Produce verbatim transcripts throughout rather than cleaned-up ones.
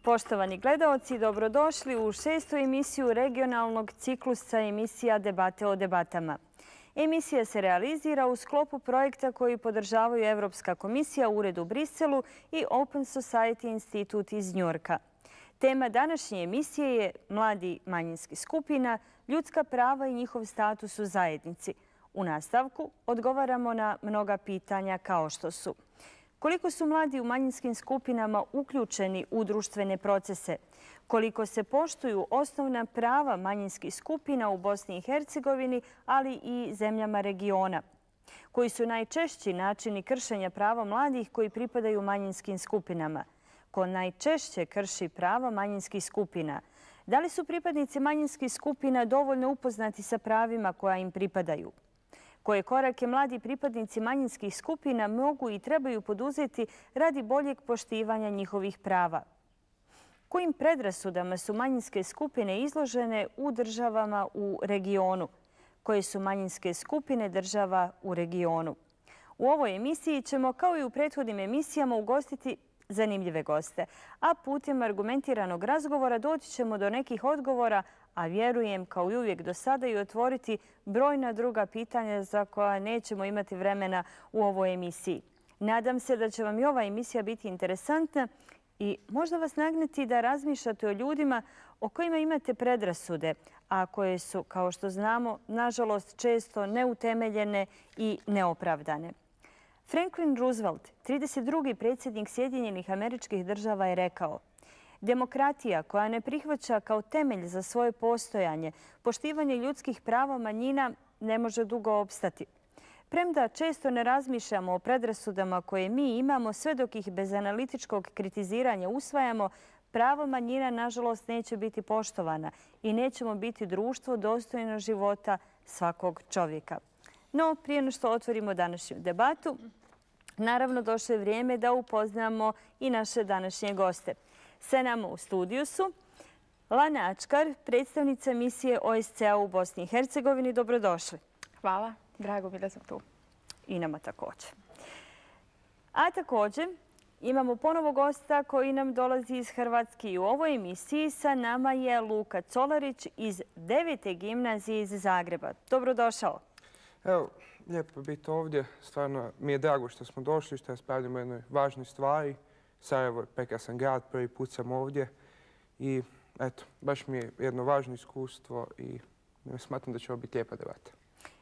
Poštovani gledaoci, dobrodošli u šestu emisiju regionalnog ciklusa emisija Debate o debatama. Emisija se realizira u sklopu projekta koji podržavaju Evropska komisija, Ured u Briselu i Open Society Institut iz Njujorka. Tema današnje emisije je mladi manjinskih skupina, ljudska prava i njihov status u zajednici. U nastavku odgovaramo na mnoga pitanja kao što su: koliko su mladi u manjinskim skupinama uključeni u društvene procese? Koliko se poštuju osnovna prava manjinskih skupina u Bosni i Hercegovini, ali i zemljama regiona? Koji su najčešći načini kršenja prava mladih koji pripadaju manjinskim skupinama? Ko najčešće krši prava manjinskih skupina? Da li su pripadnici manjinskih skupina dovoljno upoznati sa pravima koja im pripadaju? Koje korake mladi pripadnici manjinskih skupina mogu i trebaju poduzeti radi boljeg poštivanja njihovih prava? Kojim predrasudama su manjinske skupine izložene u državama u regionu? Koje su manjinske skupine država u regionu? U ovoj emisiji ćemo, kao i u prethodnim emisijama, ugostiti zanimljive goste, a putem argumentiranog razgovora doći ćemo do nekih odgovora, a vjerujem, kao i uvijek do sada, i otvoriti brojna druga pitanja za koja nećemo imati vremena u ovoj emisiji. Nadam se da će vam i ova emisija biti interesantna i možda vas nagneti da razmišljate o ljudima o kojima imate predrasude, a koje su, kao što znamo, nažalost često neutemeljene i neopravdane. Franklin Roosevelt, trideset drugi predsjednik Sjedinjenih Američkih Država, je rekao: demokratija koja ne prihvaća kao temelj za svoje postojanje poštivanje ljudskih prava manjina ne može dugo opstati. Premda često ne razmišljamo o predrasudama koje mi imamo, sve dok ih bez analitičkog kritiziranja usvajamo, pravo manjina nažalost neće biti poštovana i nećemo biti društvo dostojno života svakog čovjeka. No, prije no što otvorimo današnju debatu, naravno došlo je vrijeme da upoznamo i naše današnje goste. Sa nama u studiju su Lana Ačkar, predstavnica misije O S C A u Bosni i Hercegovini. Dobrodošli. Hvala. Drago mi da sam tu. I nama također. A također imamo ponovo gosta koji nam dolazi iz Hrvatske i u ovoj emisiji. Sa nama je Luka Colarić iz devete gimnazije iz Zagreba. Dobrodošao. Evo, lijepo biti ovdje. Stvarno mi je drago što smo došli, što raspravljamo o jednoj važnoj stvari. Sarajevo je prekrasan grad, prvi put sam ovdje i eto, baš mi je jedno važno iskustvo i smatram da će ovo biti lijepa debata.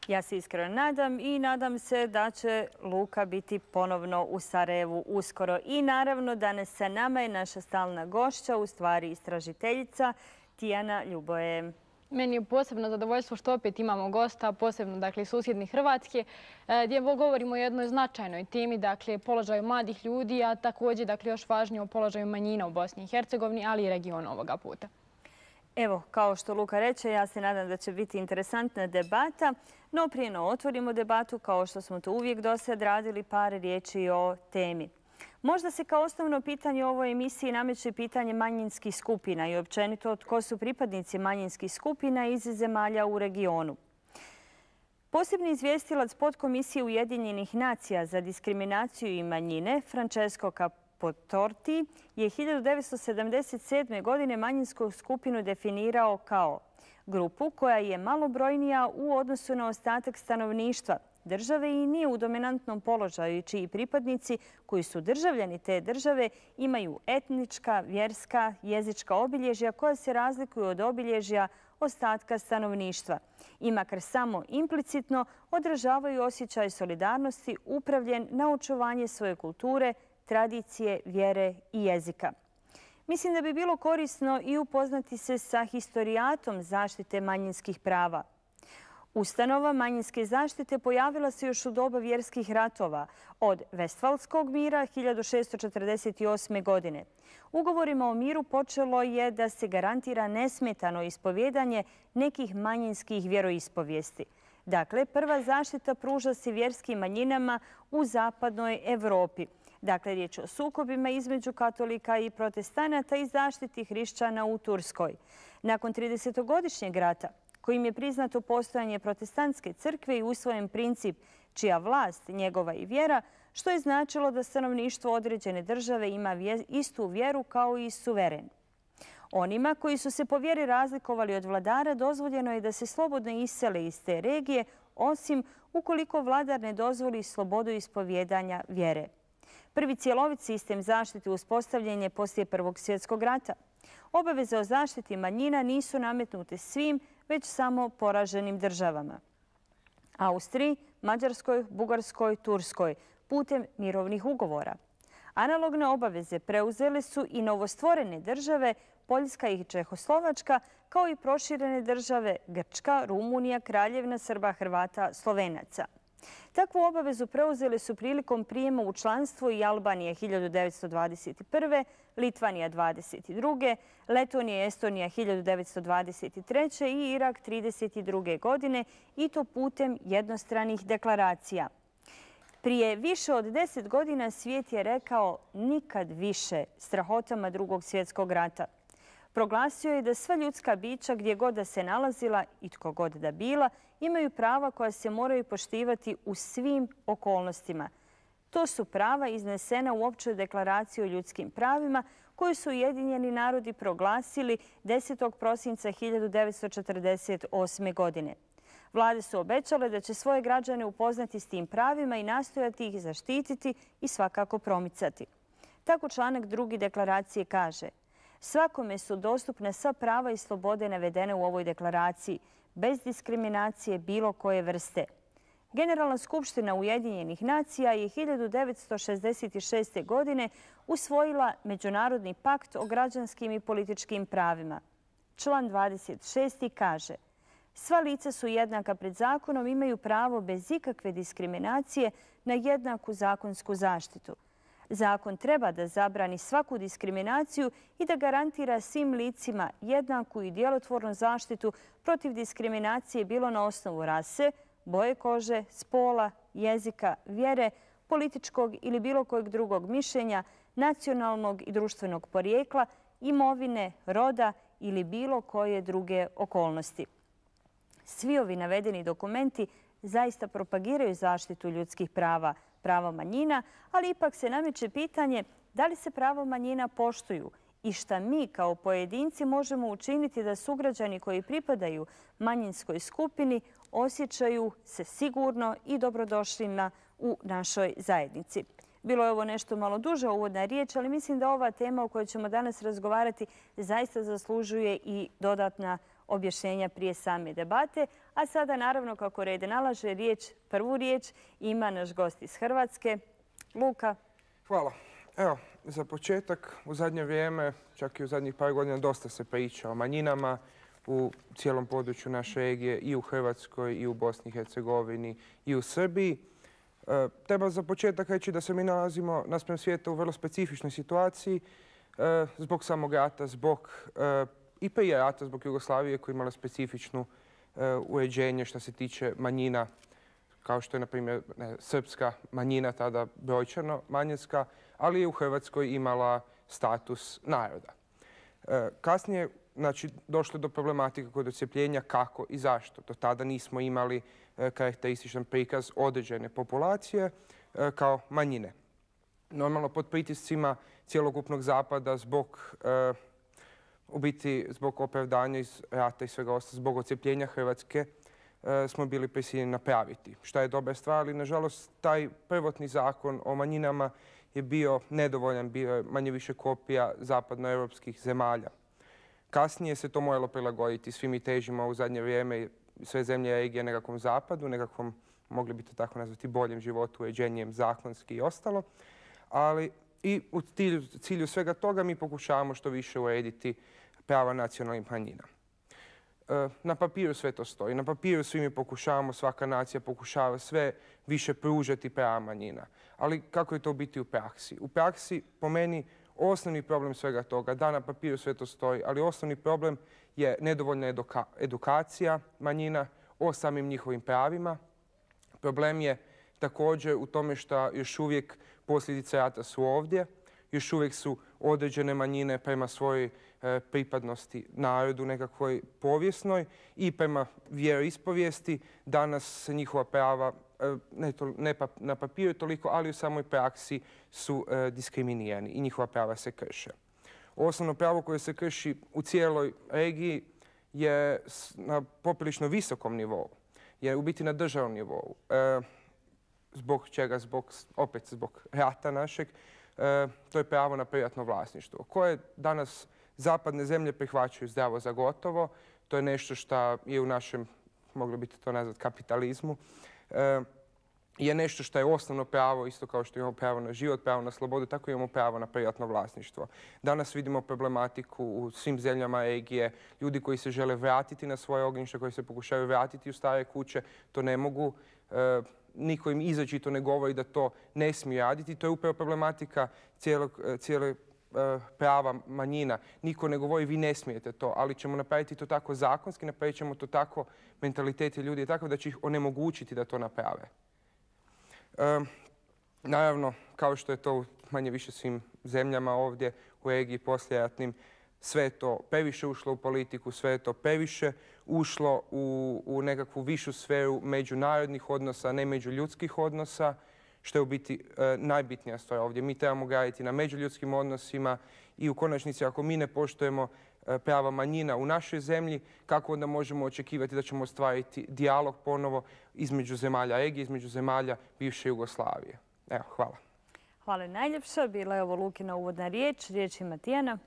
Ja se iskreno nadam i nadam se da će Luka biti ponovno u Sarajevu uskoro. I naravno danas sa nama je naša stalna gošća, u stvari istražiteljica, Tijana Ljuboje. Meni je posebno zadovoljstvo što opet imamo gosta, posebno dakle iz susjednih Hrvatske, gdje govorimo o jednoj značajnoj temi, dakle položaju mladih ljudi, a također dakle još važnije o položaju manjina u Bosni i Hercegovini, ali i regionu ovoga puta. Evo, kao što Luka reče, ja se nadam da će biti interesantna debata, no prije no otvorimo debatu, kao što smo to uvijek do sad radili, par riječi o temi. Možda se kao osnovno pitanje u ovoj emisiji nameće pitanje manjinskih skupina i općenito tko su pripadnici manjinskih skupina iz zemalja u regionu. Posebni izvjestilac podkomisije Ujedinjenih nacija za diskriminaciju i manjine, Francesco Capotorti, je hiljadu devetsto sedamdeset sedme. godine manjinsku skupinu definirao kao grupu koja je malobrojnija u odnosu na ostatak stanovništva države i nije u dominantnom položaju, čiji pripadnici koji su državljani te države imaju etnička, vjerska, jezička obilježja koja se razlikuju od obilježja ostatka stanovništva i makar samo implicitno odražavaju osjećaj solidarnosti upravljen na očuvanje svoje kulture, tradicije, vjere i jezika. Mislim da bi bilo korisno i upoznati se sa historijatom zaštite manjinskih prava. Ustanova manjinske zaštite pojavila se još u doba vjerskih ratova od Vestfalskog mira hiljadu šessto četrdeset osme. godine. Ugovorima o miru počelo je da se garantira nesmetano ispovjedanje nekih manjinskih vjeroispovijesti. Dakle, prva zaštita pruža se vjerskim manjinama u zapadnoj Evropi. Dakle, riječ o sukobima između katolika i protestanata i zaštiti hrišćana u Turskoj. Nakon tridesetogodišnjeg rata, kojim je priznato postojanje protestantske crkve i usvojen princip čija vlast, njegova i vjera, što je značilo da stanovništvo određene države ima istu vjeru kao i suveren. Onima koji su se po vjeri razlikovali od vladara dozvoljeno je da se slobodno isele iz te regije, osim ukoliko vladar ne dozvoli slobodu ispovjedanja vjere. Prvi cjelovit sistem zaštite uspostavljen je poslije Prvog svjetskog rata. Obaveze o zaštiti manjina nisu nametnute svim, već samo poraženim državama. Austriji, Mađarskoj, Bugarskoj, Turskoj, putem mirovnih ugovora. Analogne obaveze preuzele su i novostvorene države Poljska i Čehoslovačka, kao i proširene države Grčka, Rumunija, Kraljevina Srba, Hrvata, Slovenaca. Takvu obavezu preuzele su prilikom prijema u članstvo i Albanije hiljadu devetsto dvadeset prve, Litvanija dvadeset druge, Letonija i Estonija hiljadu devetsto dvadeset treće i Irak trideset druge godine, i to putem jednostranih deklaracija. Prije više od deset godina svijet je rekao nikad više strahotama Drugog svjetskog rata. Proglasio je da sva ljudska bića, gdje god da se nalazila i tko god da bila, imaju prava koja se moraju poštivati u svim okolnostima. To su prava iznesena u Općoj deklaraciji o ljudskim pravima koju su Ujedinjeni narodi proglasili desetog prosinca hiljadu devetsto četrdeset osme. godine. Vlade su obećale da će svoje građane upoznati s tim pravima i nastojati ih zaštititi i svakako promicati. Tako članak drugi deklaracije kaže: svakome su dostupne sva prava i slobode navedene u ovoj deklaraciji, bez diskriminacije bilo koje vrste. Generalna skupština Ujedinjenih nacija je hiljadu devetsto šezdeset šeste. godine usvojila Međunarodni pakt o građanskim i političkim pravima. Član dvadeset šesti kaže: sva lica su jednaka pred zakonom, imaju pravo bez ikakve diskriminacije na jednaku zakonsku zaštitu. Zakon treba da zabrani svaku diskriminaciju i da garantira svim licima jednaku i djelotvornu zaštitu protiv diskriminacije bilo na osnovu rase, boje kože, spola, jezika, vjere, političkog ili bilo kojeg drugog mišljenja, nacionalnog i društvenog porijekla, imovine, roda ili bilo koje druge okolnosti. Svi ovi navedeni dokumenti zaista propagiraju zaštitu ljudskih prava, prava manjina, ali ipak se nameće pitanje da li se prava manjina poštuju i šta mi kao pojedinci možemo učiniti da sugrađani koji pripadaju manjinskoj skupini osjećaju se sigurno i dobrodošlima u našoj zajednici. Bilo je ovo nešto malo duža uvodna riječ, ali mislim da ova tema o kojoj ćemo danas razgovarati zaista zaslužuje i dodatna objašnjenja prije same debate. A sada, naravno, kako red nalaže, riječ, prvu riječ ima naš gost iz Hrvatske, Luka. Hvala. Evo, za početak, u zadnje vrijeme, čak i u zadnjih par godina, dosta se priča o manjinama u cijelom području naše regije, i u Hrvatskoj, i u Bosni i Hercegovini, i u Srbiji. E, treba za početak reći da se mi nalazimo naspram svijeta u vrlo specifičnoj situaciji e, zbog samog rata, zbog e, i prije rata, zbog Jugoslavije koja je imala specifičnu e, uređenje što se tiče manjina, kao što je, na primjer, ne, srpska manjina, tada brojčano manjinska, ali je u Hrvatskoj imala status naroda. E, kasnije, znači, došlo do problematike kod odcjepljenja kako i zašto. Do tada nismo imali e, karakterističan prikaz određene populacije e, kao manjine. Normalno, pod pritiscima cjelokupnog zapada zbog e, u biti zbog opravdanja iz rata i svega ostalo, zbog odcjepljenja Hrvatske e, smo bili prisiljeni napraviti. Šta je dobra stvar, ali nažalost taj prvotni zakon o manjinama je bio nedovoljan, bio je manje više kopija zapadnoevropskih zemalja. Kasnije se to moralo prilagoditi. Svi mi težimo u zadnje vrijeme sve zemlje regije nekakvom zapadu, nekakvom, mogli bi to tako nazvati, boljem životu, uređenjem zakonski i ostalo. Ali i u cilju, cilju svega toga mi pokušavamo što više urediti prava nacionalnih manjina. E, na papiru sve to stoji. Na papiru svi mi pokušavamo, svaka nacija pokušava sve više pružati prava manjina. Ali kako je to biti u praksi? U praksi, po meni, osnovni problem svega toga, da na papiru sve to stoji, ali osnovni problem je nedovoljna eduka, edukacija manjina o samim njihovim pravima. Problem je također u tome što još uvijek posljedice rata su ovdje, još uvijek su određene manjine prema svojoj e, pripadnosti narodu nekakvoj povijesnoj i prema vjeroispovijesti. Danas se njihova prava ne, to, ne pa, na papiru toliko, ali u samoj praksi su e, diskriminirani i njihova prava se krše. Osnovno pravo koje se krši u cijeloj regiji je na poprilično visokom nivou, je u biti na državnom nivou. E, zbog čega? Zbog, opet zbog rata našeg. E, to je pravo na privatno vlasništvo, koje danas zapadne zemlje prihvaćaju zdravo za gotovo. To je nešto što je u našem, moglo biti to nazvat, kapitalizmu. E, je nešto što je osnovno pravo, isto kao što imamo pravo na život, pravo na slobodu, tako imamo pravo na privatno vlasništvo. Danas vidimo problematiku u svim zemljama regije, ljudi koji se žele vratiti na svoje ognjište, koji se pokušaju vratiti u stare kuće, to ne mogu. E, niko im izričito ne govori da to ne smije raditi. To je upravo problematika cijelog, cijele prava manjina. Niko ne govori vi ne smijete to, ali ćemo napraviti to tako zakonski, napravit ćemo to tako, mentaliteti ljudi je takav da će ih onemogućiti da to naprave. E, naravno, kao što je to u manje više svim zemljama ovdje u regiji poslijeratnim, sve je to previše ušlo u politiku, sve je to previše ušlo u, u nekakvu višu sferu međunarodnih odnosa, ne međuljudskih odnosa, što je u biti e, najbitnija stvar ovdje. Mi trebamo graditi na međuljudskim odnosima i u konačnici ako mi ne poštujemo e, prava manjina u našoj zemlji, kako onda možemo očekivati da ćemo ostvariti dijalog ponovo između zemalja regije, između zemalja bivše Jugoslavije. Evo, hvala. Hvala najljepša. Bila je ovo Lukina uvodna riječ. Riječ ima Tijana.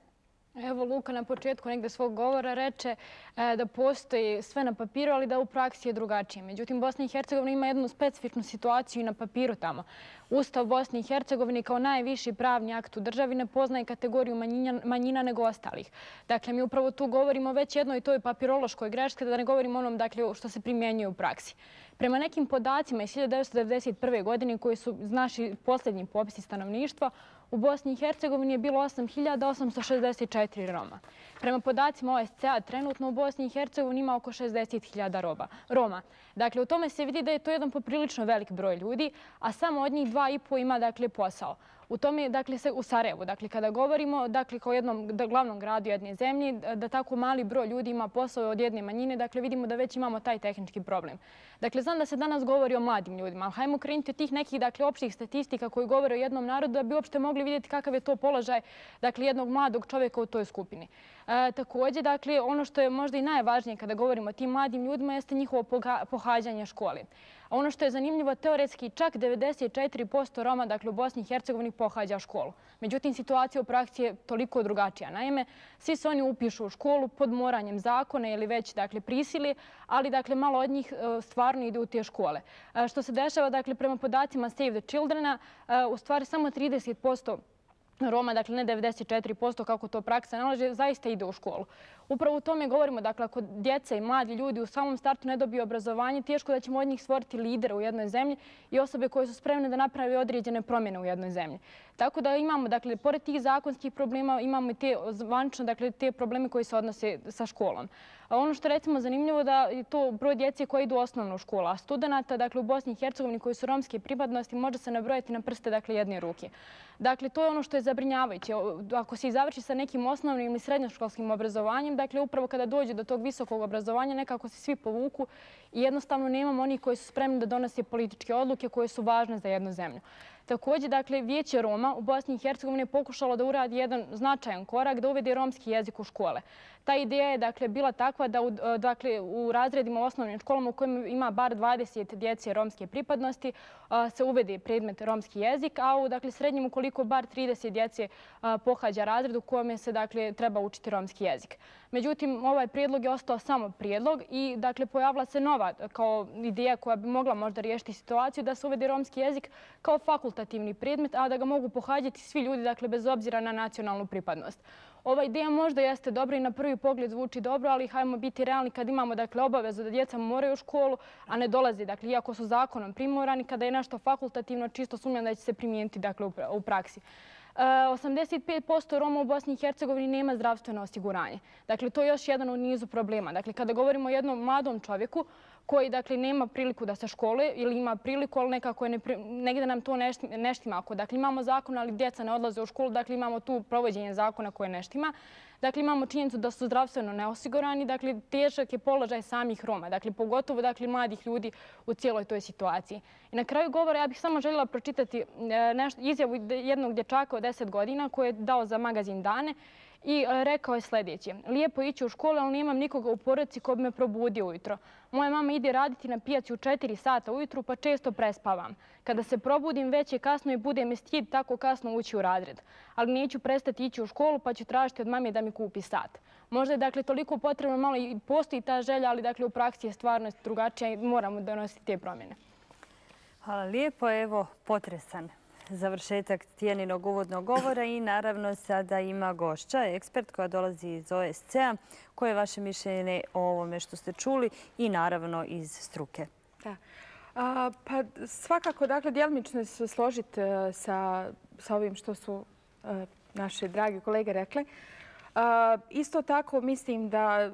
Evo, Luka na početku negde svog govora reče da postoji sve na papiru, ali da u praksi je drugačije. Međutim, Bosna i Hercegovina ima jednu specifičnu situaciju i na papiru tamo. Ustav Bosne i Hercegovine kao najviši pravni akt u državi ne poznaje kategoriju manjina, manjina nego ostalih. Dakle, mi upravo tu govorimo već jednoj toj papirološkoj greški, da ne govorimo onom dakle, što se primjenjuje u praksi. Prema nekim podacima iz hiljadu devetsto devedeset prve. godine, koji su naši posljednji popisi stanovništva, u Bosni i Hercegovini je bilo osam hiljada osamsto šezdeset četiri Roma. Prema podacima O S C A, trenutno u Bosni i Hercegovini ima oko šezdeset hiljada Roma. Dakle, u tome se vidi da je to jedan poprilično velik broj ljudi, a samo od njih dva i po ima dakle, posao. U tome, dakle, se u Sarajevu, dakle, kada govorimo, dakle, kao jednom glavnom gradu jedne zemlje, da tako mali broj ljudi ima posao od jedne manjine, dakle, vidimo da već imamo taj tehnički problem. Dakle, znam da se danas govori o mladim ljudima, ali hajmo krenuti od tih nekih, dakle, opštih statistika koji govore o jednom narodu da bi uopšte mogli vidjeti kakav je to položaj, dakle, jednog mladog čovjeka u toj skupini. E, također, dakle, ono što je možda i najvažnije kada govorimo o tim mladim ljudima jeste njihovo pohađanje škole. Ono što je zanimljivo, teoretski čak devedeset četiri posto Roma, dakle, u Bosni i Hercegovini pohađa školu. Međutim, situacija u praksi je toliko drugačija. Naime, svi se oni upišu u školu pod moranjem zakona ili već, dakle, prisili, ali, dakle, malo od njih stvarno ide u te škole. Što se dešava, dakle, prema podacima Save the Childrena, u stvari samo trideset posto Roma, dakle ne devedeset četiri posto kako to praksa nalaže, zaista ide u školu. Upravo u tome govorimo, dakle, ako djeca i mladi ljudi u samom startu ne dobiju obrazovanje, teško da ćemo od njih stvoriti lidera u jednoj zemlji i osobe koje su spremne da napravi određene promjene u jednoj zemlji. Tako da imamo, dakle, pored tih zakonskih problema, imamo i te zvanično, dakle, te probleme koji se odnose sa školom. A ono što recimo zanimljivo da je to broj djece koji idu u osnovnu školu, a studenta, dakle, u Bosni i Hercegovini koji su romske pripadnosti može se nabrojati na prste, dakle, jedne ruke. Dakle, to je ono što je zabrinjavajuće. Ako se i završi sa nekim osnovnim ili srednjoškolskim obrazovanjem, dakle, upravo kada dođe do tog visokog obrazovanja, nekako se svi povuku i jednostavno nemamo onih koji su spremni da donose političke odluke koje su važne za jednu zemlju. Također, dakle, Vijeće Roma u Bosni i Hercegovini je pokušalo da uradi jedan značajan korak, da uvede romski jezik u škole. Ta ideja je, dakle, bila takva da u, dakle, u razredima u osnovnim školama u kojima ima bar dvadeset djece romske pripadnosti se uvede predmet romski jezik, a u, dakle, srednjim ukoliko bar trideset djece pohađa razred u kojem se, dakle, treba učiti romski jezik. Međutim, ovaj prijedlog je ostao samo prijedlog i, dakle, pojavila se nova kao ideja koja bi mogla možda riješiti situaciju da se uvede romski jezik kao fakultativni predmet, a da ga mogu pohađati svi ljudi, dakle, bez obzira na nacionalnu pripadnost. Ova ideja možda jeste dobra i na prvi pogled zvuči dobro, ali hajmo biti realni kad imamo, dakle, obavezu da djeca moraju u školu, a ne dolaze, dakle, iako su zakonom primorani, kada je nešto fakultativno, čisto sumnjam da će se primijeniti, dakle, u praksi. osamdeset pet posto Roma u Bosni i Hercegovini nema zdravstveno osiguranje. Dakle, to je još jedan u nizu problema. Dakle, kada govorimo o jednom mladom čovjeku koji dakle nema priliku da se školuje ili ima priliku, ali nekako je negdje nam to ne štima. Dakle, imamo zakon, ali djeca ne odlaze u školu, dakle imamo tu provođenje zakona koje ne štima. Dakle, imamo činjenicu da su zdravstveno neosigurani, dakle, težak je položaj samih Roma, dakle, pogotovo dakle, mladih ljudi u cijeloj toj situaciji. I na kraju govora ja bih samo željela pročitati izjavu jednog dječaka od deset godina koji je dao za magazin Dane i rekao je sljedeće. Lijepo ići u školu, ali nemam nikoga u porodici ko bi me probudio ujutro. Moja mama ide raditi na pijaci u četiri sata ujutru, pa često prespavam. Kada se probudim, već je kasno i bude mi stid tako kasno ući u razred. Ali neću prestati ići u školu, pa ću tražiti od mame da mi kupi sat. Možda je dakle toliko potrebno, malo i postoji ta želja, ali dakle u praksi je stvarno drugačija i moramo donositi te promjene. Hvala lijepo. Evo, potresan završetak Tijaninog uvodnog govora i naravno sada ima gošća, ekspert koja dolazi iz O S C-a. Koje je vaše mišljenje o ovome što ste čuli i naravno iz struke? Da. A, pa svakako, dakle, djelomično se složiti sa, sa ovim što su a, naše dragi kolege rekli. A, isto tako mislim da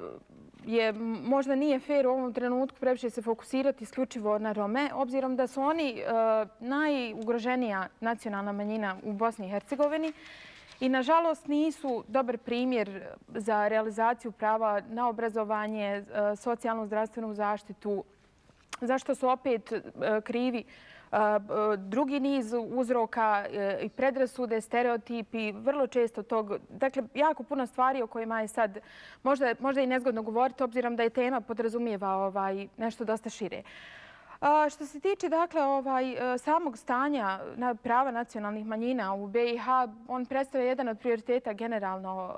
je možda nije fair u ovom trenutku previše se fokusirati isključivo na Rome, obzirom da su oni a, najugroženija nacionalna manjina u Bosni i Hercegovini i nažalost nisu dobar primjer za realizaciju prava na obrazovanje, a, socijalnu zdravstvenu zaštitu, zašto su opet krivi drugi niz uzroka i predrasude, stereotipi, vrlo često tog, dakle, jako puno stvari o kojima je sad možda, možda i nezgodno govoriti, obzirom da je tema podrazumijeva ovaj, nešto dosta šire. A, što se tiče dakle, ovaj, samog stanja na prava nacionalnih manjina u B i H, on predstavlja jedan od prioriteta generalno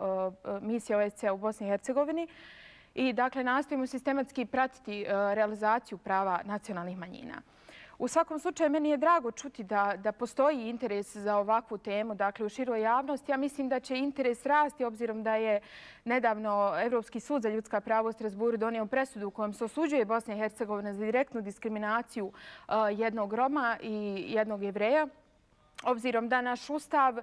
misije O S C-a u Bosni i Hercegovini. I dakle, nastojimo sistematski pratiti realizaciju prava nacionalnih manjina. U svakom slučaju, meni je drago čuti da, da postoji interes za ovakvu temu, dakle, u široj javnosti. Ja mislim da će interes rasti, obzirom da je nedavno Evropski sud za ljudska prava u Strasburu donio presudu u kojem se osuđuje Bosna i Hercegovina za direktnu diskriminaciju uh, jednog Roma i jednog Jevreja, obzirom da naš ustav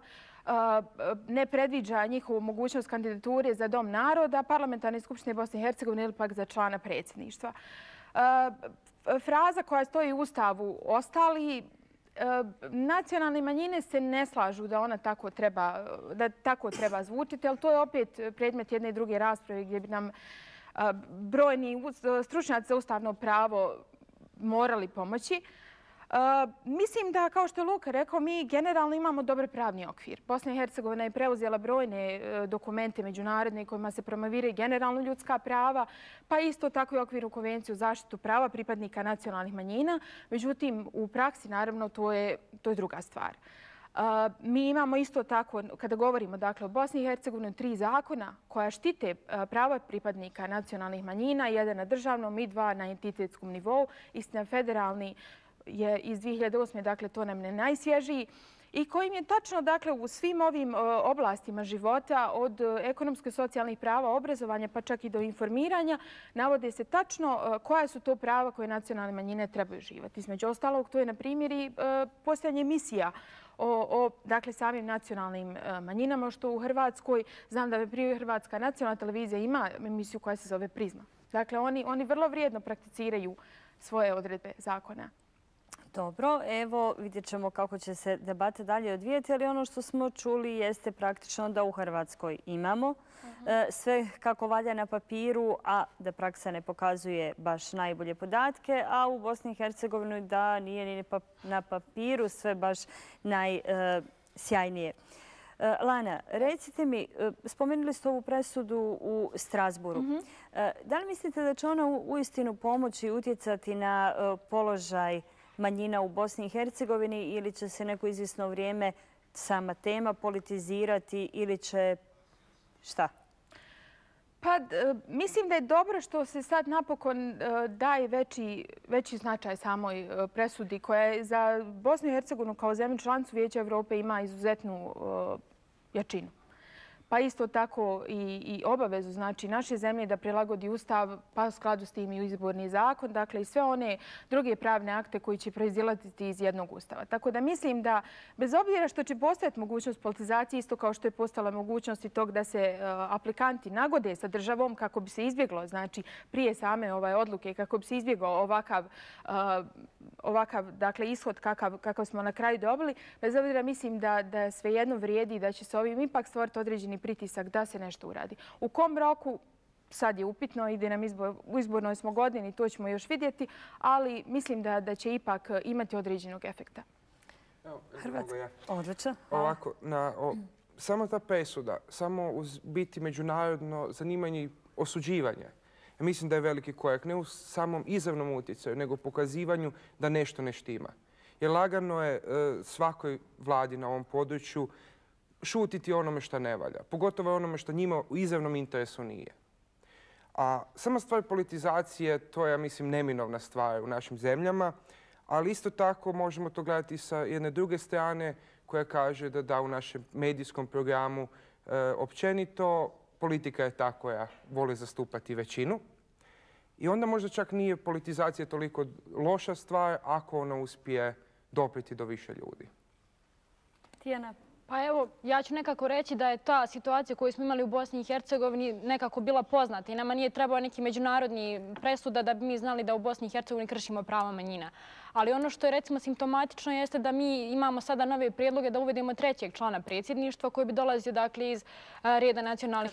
ne predviđa njihovu mogućnost kandidature za Dom naroda, Parlamentarne skupštine Bosne i Hercegovine ili pak za člana predsjedništva. Fraza koja stoji u ustavu ostali, nacionalne manjine se ne slažu da ona tako treba, da tako treba zvučiti, ali to je opet predmet jedne i druge rasprave gdje bi nam brojni stručnjaci za ustavno pravo morali pomoći. Uh, mislim da, kao što je Luka rekao, mi generalno imamo dobar pravni okvir. Bosna i Hercegovina je preuzela brojne uh, dokumente međunarodne kojima se promoviraju generalno ljudska prava, pa isto tako i okvirnu konvenciju o zaštitu prava pripadnika nacionalnih manjina. Međutim, u praksi, naravno, to je, to je druga stvar. Uh, mi imamo isto tako, kada govorimo dakle, o Bosni i Hercegovini, tri zakona koja štite uh, prava pripadnika nacionalnih manjina, jedan na državnom i dva na entitetskom nivou, istina federalni je iz dvije hiljade osme. Dakle, to nam ne najsvježiji i kojim je tačno dakle, u svim ovim oblastima života od ekonomskih socijalnih prava, obrazovanja pa čak i do informiranja navode se tačno koja su to prava koje nacionalne manjine trebaju živati. Između ostalog, to je na primjer i postojanje emisija o, o dakle, samim nacionalnim manjinama, što u Hrvatskoj, znam da je prije Hrvatska nacionalna televizija ima emisiju koja se zove Prizma. Dakle, oni, oni vrlo vrijedno prakticiraju svoje odredbe zakona. Dobro, evo vidjet ćemo kako će se debata dalje odvijeti, ali ono što smo čuli jeste praktično da u Hrvatskoj imamo sve kako valja na papiru, a da praksa ne pokazuje baš najbolje podatke, a u Bosni i Hercegovini da nije ni na papiru sve baš najsjajnije. Lana, recite mi, spomenuli ste ovu presudu u Strasburu. Da li mislite da će ona uistinu pomoći i utjecati na položaj manjina u Bosni i Hercegovini ili će se neko izvjesno vrijeme sama tema politizirati ili će šta? Pa mislim da je dobro što se sad napokon daje veći, veći značaj samoj presudi koja je za Bosnu i Hercegovinu kao zemlju članicu Vijeća Evrope ima izuzetnu jačinu. pa isto tako i obavezu znači naše zemlje da prilagodi ustav, pa u skladu s tim i izborni zakon, dakle i sve one druge pravne akte koji će proizilaziti iz jednog ustava. Tako da mislim da bez obzira što će postojati mogućnost politizacije, isto kao što je postala mogućnost i tog da se aplikanti nagode sa državom kako bi se izbjeglo, znači prije same ovaj odluke, kako bi se izbjegao ovakav ovakav dakle ishod kakav, kakav smo na kraju dobili, bez obzira mislim da, da svejedno vrijedi da će se ovim ipak stvoriti određeni pritisak da se nešto uradi. U kom roku sad je upitno, ide nam izbor, u izbornoj smo godini, to ćemo još vidjeti, ali mislim da, da će ipak imati određenog efekta. Hrvatska, odlično. Ovako, na, o, samo ta presuda, samo uz biti međunarodno zanimanje i osuđivanje, ja mislim da je veliki korak, ne u samom izravnom utjecaju, nego pokazivanju da nešto ne štima. Jer lagano je svakoj vladi na ovom području šutiti onome što ne valja, pogotovo onome što njima u izravnom interesu nije. A sama stvar politizacije, to je, ja mislim, neminovna stvar u našim zemljama, ali isto tako možemo to gledati sa jedne druge strane koja kaže da da u našem medijskom programu općenito politika je ta koja voli zastupati većinu. I onda možda čak nije politizacija toliko loša stvar ako ona uspije doprijeti do više ljudi. Tijana? Pa evo, ja ću nekako reći da je ta situacija koju smo imali u Bosni i Hercegovini nekako bila poznata i nama nije trebao neki međunarodni presuda da bi mi znali da u Bosni i Hercegovini kršimo prava manjina. Ali ono što je recimo simptomatično jeste da mi imamo sada nove prijedloge da uvedemo trećeg člana predsjedništva koji bi dolazio dakle iz reda nacionalnih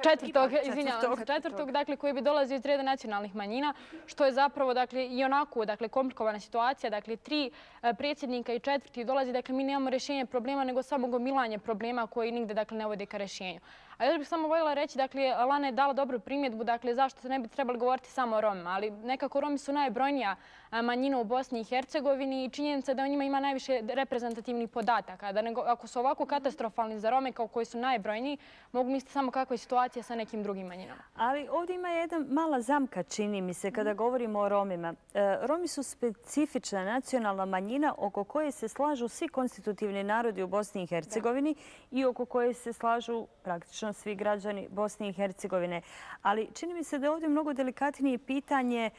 četvrtog, izvinjavam se, četvrtog, dakle koji bi dolazio iz reda nacionalnih manjina, što je zapravo dakle i onako dakle komplikovana situacija, dakle tri predsjednika i četvrti dolazi, dakle mi nemamo rješenje problema nego samo gomilanje problema koji nigde dakle ne vode ka rješenju. A još bih samo voljela reći, dakle, Lana je dala dobru primjedbu, dakle, zašto se ne bi trebali govoriti samo o Romima, ali nekako Romi su najbrojnija manjina u Bosni i Hercegovini i činjenica da o njima ima najviše reprezentativnih podataka. Da nego, ako su ovako katastrofalni za Rome kao koji su najbrojniji, mogu misliti samo kakva je situacija sa nekim drugim manjinama. Ali ovdje ima jedna mala zamka, čini mi se, kada govorimo o Romima. Romi su specifična nacionalna manjina oko koje se slažu svi konstitutivni narodi u Bosni i Hercegovini i oko koje se slažu praktično svi građani Bosne i Hercegovine. Ali čini mi se da je ovdje mnogo delikatnije pitanje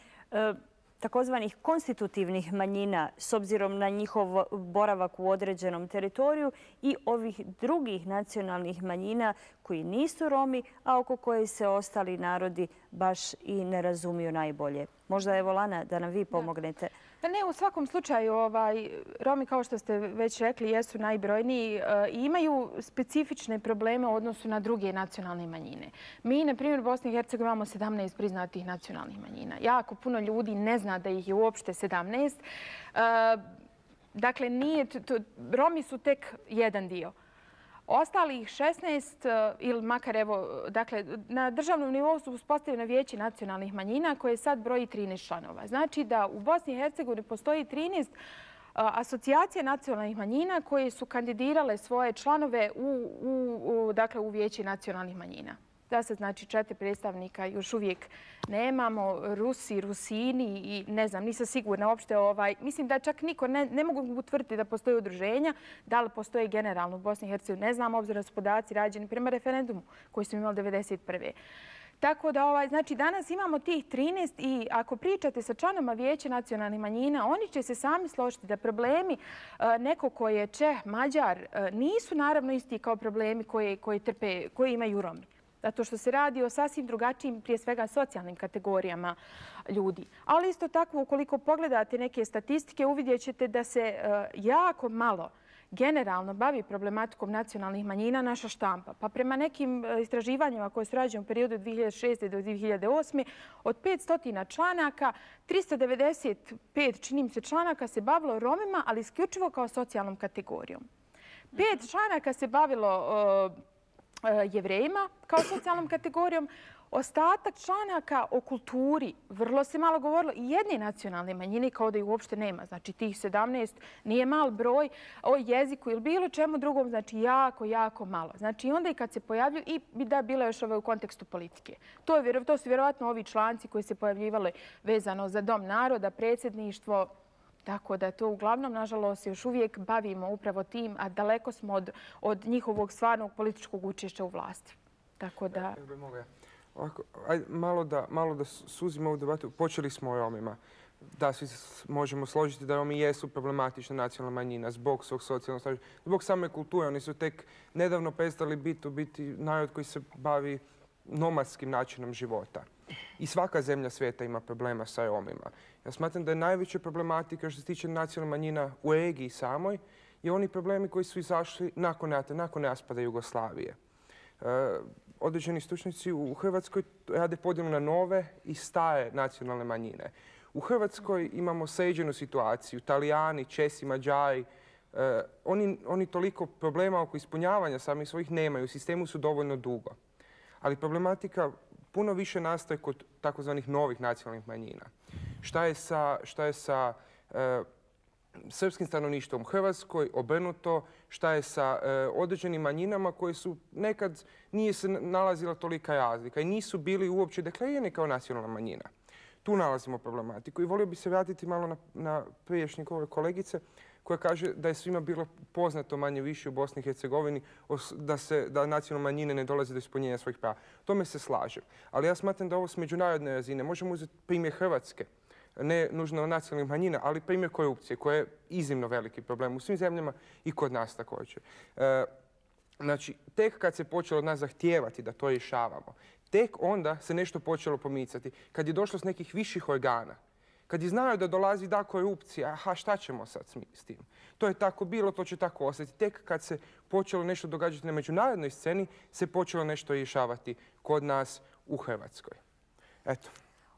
takozvanih konstitutivnih manjina s obzirom na njihov boravak u određenom teritoriju i ovih drugih nacionalnih manjina koji nisu Romi, a oko koje se ostali narodi baš i ne razumiju najbolje. Možda je Lana da nam vi pomognete. Pa ne, u svakom slučaju Romi, kao što ste već rekli, jesu najbrojniji i imaju specifične probleme u odnosu na druge nacionalne manjine. Mi, na primjer, u Bosni i Hercegovini imamo sedamnaest priznatih nacionalnih manjina. Jako puno ljudi ne zna da ih je uopšte sedamnaest. Dakle, Romi su tek jedan dio. Ostalih šesnaest, ili makar evo, dakle, na državnom nivou su uspostavljene vijeće nacionalnih manjina koje sad broji trinaest članova. Znači da u Bosni i Hercegovini postoji trinaest asocijacija nacionalnih manjina koje su kandidirale svoje članove u, u, dakle, u vijeće nacionalnih manjina. Da se znači četiri predstavnika još uvijek nemamo, Rusi, Rusini i ne znam, nisam sigurna uopšte. Ovaj, mislim da čak niko ne, ne mogu utvrditi da postoje udruženja, da li postoje generalno u Bosni i Hercegovini. Ne znam, obzirom da su podaci rađeni prema referendumu koji smo imali devedeset prve. Tako da, ovaj, znači, danas imamo tih trinaest i ako pričate sa članoma vijeća nacionalnih manjina, oni će se sami složiti da problemi neko ko je Čeh, Mađar, nisu naravno isti kao problemi koje, koje, trpe, koje imaju Romi. Zato što se radi o sasvim drugačijim, prije svega, socijalnim kategorijama ljudi. Ali isto tako, ukoliko pogledate neke statistike, uvidjet ćete da se jako malo generalno bavi problematikom nacionalnih manjina naša štampa. Pa prema nekim istraživanjima koje su rađene u periodu od dvije hiljade šeste. do dvije hiljade osme. od petsto članaka, tristo devedeset pet čini mi se članaka se bavilo Romima, ali isključivo kao socijalnom kategorijom. Pet članaka se bavilo Jevrejima kao socijalnom kategorijom. Ostatak članaka o kulturi, vrlo se malo govorilo, i jedne nacionalne manjine kao da ih uopšte nema. Znači tih sedamnaest nije mal broj, o jeziku ili bilo čemu drugom, znači jako, jako malo. Znači onda i kad se pojavljuju, i da bilo još ove u kontekstu politike. To, je, to su vjerovatno ovi članci koji se pojavljivali vezano za Dom naroda, predsjedništvo Tako da to uglavnom, nažalost, još uvijek bavimo upravo tim, a daleko smo od, od njihovog stvarnog političkog učešća u vlasti. Tako da... Ovako, ajde, malo da, malo da suzimo ovu debatu. Počeli smo o Romima. Da, svi možemo složiti da Romi jesu problematična nacionalna manjina zbog svog socijalnog statusa, zbog same kulture. Oni su tek nedavno prestali biti, biti narod koji se bavi nomadskim načinom života. I svaka zemlja svijeta ima problema sa Romima. Ja smatram da je najveća problematika što se tiče nacionalnih manjina u regiji samoj je oni problemi koji su izašli nakon rata, nakon raspada Jugoslavije. E, određeni stručnjaci u Hrvatskoj rade podjelu na nove i stare nacionalne manjine. U Hrvatskoj imamo sređenu situaciju. Italijani, Česi, Mađari, e, oni, oni toliko problema oko ispunjavanja samih svojih nemaju. U sistemu su dovoljno dugo. Ali problematika puno više nastaje kod takozvanih novih nacionalnih manjina. Šta je sa, šta je sa e, srpskim stanovništvom u Hrvatskoj, obrnuto, šta je sa e, određenim manjinama koje su nekad nije se nalazila tolika razlika i nisu bili uopće deklarirani kao nacionalna manjina. Tu nalazimo problematiku i volio bi se vratiti malo na, na prijašnje kolegice koja kaže da je svima bilo poznato manje više u Bosni i Hercegovini da, se, da nacionalne manjine ne dolaze do ispunjenja svojih prava. Tome se slažem. Ali ja smatram da ovo s međunarodne razine možemo uzeti primjer Hrvatske, ne nužno nacionalnih manjina, ali primjer korupcije koja je iznimno veliki problem u svim zemljama i kod nas također. E, znači, tek kad se počelo od nas zahtijevati da to rješavamo, tek onda se nešto počelo pomicati. Kad je došlo s nekih viših organa, kad je znao da dolazi da korupcija, aha, šta ćemo sad s tim? To je tako bilo, to će tako ostati. Tek kad se počelo nešto događati na međunarodnoj sceni, se počelo nešto rješavati kod nas u Hrvatskoj. Eto.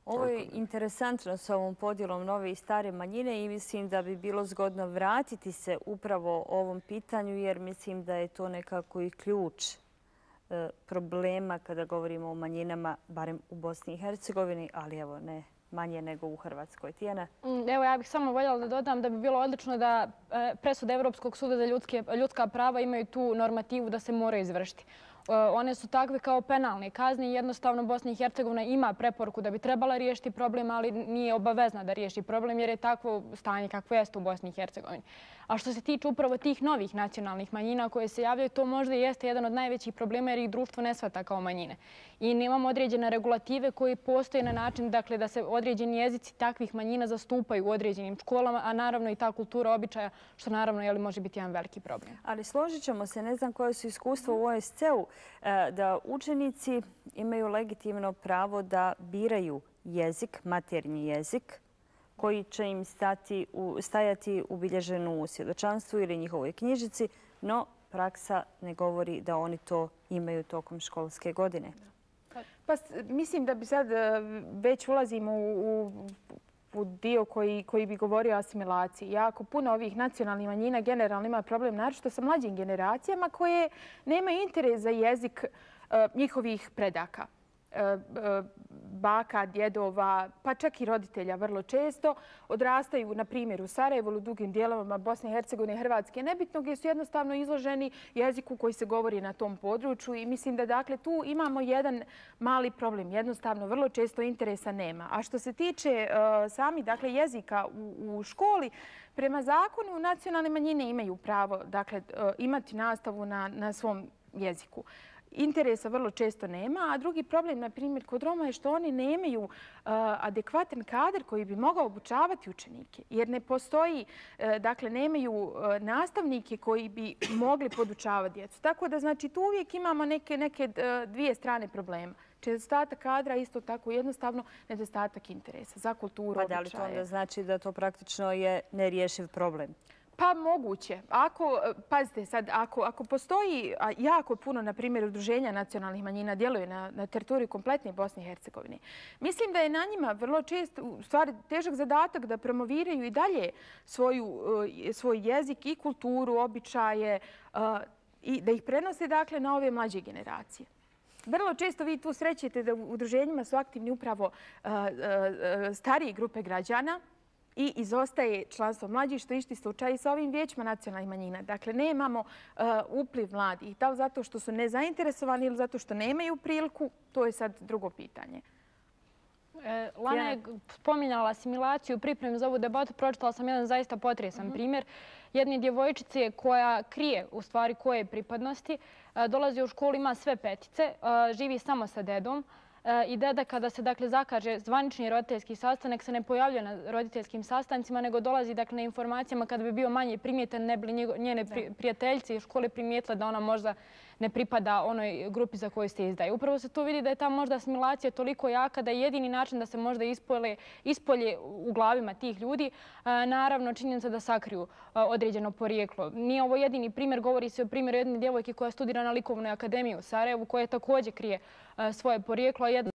Ovo je interesantno s ovom podjelom nove i stare manjine i mislim da bi bilo zgodno vratiti se upravo ovom pitanju jer mislim da je to nekako i ključ problema kada govorimo o manjinama, barem u Bosni i Hercegovini, ali evo ne manje nego u Hrvatskoj. Tijana? Evo, ja bih samo voljela da dodam da bi bilo odlično da presude Evropskog suda za ljudske, ljudska prava imaju tu normativu da se mora izvršiti. One su takve kao penalne kazne i jednostavno Bosna i Hercegovina ima preporuku da bi trebala riješiti problem, ali nije obavezna da riješi problem jer je takvo stanje kakvo jeste u Bosni i Hercegovini. A što se tiče upravo tih novih nacionalnih manjina koje se javljaju, to možda jeste jedan od najvećih problema jer ih društvo ne shvata kao manjine. I nemamo određene regulative koje postoje na način dakle, da se određeni jezici takvih manjina zastupaju u određenim školama, a naravno i ta kultura običaja, što naravno jeli, može biti jedan veliki problem. Ali složit ćemo se, ne znam koje su iskustva u O S C-u, da učenici imaju legitimno pravo da biraju jezik, maternji jezik, koji će im stati u, stajati ubilježenu u svjedočanstvu ili njihovoj knjižici, no praksa ne govori da oni to imaju tokom školske godine. Pa, mislim da bi sad već ulazimo u, u dio koji, koji bi govorio o asimilaciji. Jako puno ovih nacionalnih manjina generalno ima problem, naročito sa mlađim generacijama koje nemaju interes za jezik uh, njihovih predaka. Baka, djedova, pa čak i roditelja vrlo često odrastaju, na primjer, u Sarajevu ili u drugim dijelovima Bosne i Hercegovine i Hrvatske, nebitno gdje su jednostavno izloženi jeziku koji se govori na tom području i mislim da dakle tu imamo jedan mali problem. Jednostavno, vrlo često interesa nema. A što se tiče uh, sami dakle, jezika u, u školi, prema zakonu nacionalne manjine imaju pravo dakle, uh, imati nastavu na, na svom jeziku. Interesa vrlo često nema, a drugi problem, na primjer, kod Roma je što oni nemaju uh, adekvatan kadar koji bi mogao obučavati učenike, jer ne postoji, uh, dakle, nemaju uh, nastavnike koji bi mogli podučavati djecu. Tako da, znači, tu uvijek imamo neke, neke uh, dvije strane problema. Nedostatak kadra, isto tako jednostavno nedostatak interesa za kulturu, običaje. Pa da li to onda znači da to praktično je nerješiv problem? Pa moguće. Ako, pazite sad, ako, ako postoji jako puno, na primjer, udruženja nacionalnih manjina djeluje na, na teritoriju kompletne Bosne i Hercegovine, mislim da je na njima vrlo često, u stvari, težak zadatak da promoviraju i dalje svoju, svoj jezik i kulturu, običaje i da ih prenose dakle, na ove mlađe generacije. Vrlo često vi tu srećete da u udruženjima su aktivni upravo starije grupe građana, i izostaje članstvo mlađih, što je isti slučaj i sa ovim vijećima nacionalnih manjina. Dakle, nemamo uh, upliv mladih. Da li zato što su nezainteresovani ili zato što nemaju priliku, to je sad drugo pitanje. Lana je spominjala asimilaciju, pripremu za ovu debatu. Pročitala sam jedan zaista potresan primjer jedne djevojčice koja krije u stvari koje pripadnosti. Dolazi u školu, ima sve petice, živi samo sa dedom. I deda kada se dakle zakaže zvanični roditeljski sastanak se ne pojavlja na roditeljskim sastancima, nego dolazi dakle na informacijama kada bi bio manje primjetan, ne bi njene prijateljice iz škole primijetile da ona možda ne pripada onoj grupi za koju se izdaje. Upravo se tu vidi da je ta možda asimilacija toliko jaka da je jedini način da se možda ispolje u glavima tih ljudi, naravno činjenica da sakriju određeno porijeklo. Nije ovo jedini primjer, govori se o primjeru jedne djevojke koja studira na Likovnoj akademiji u Sarajevu, koja također krije svoje porijeklo. Jedna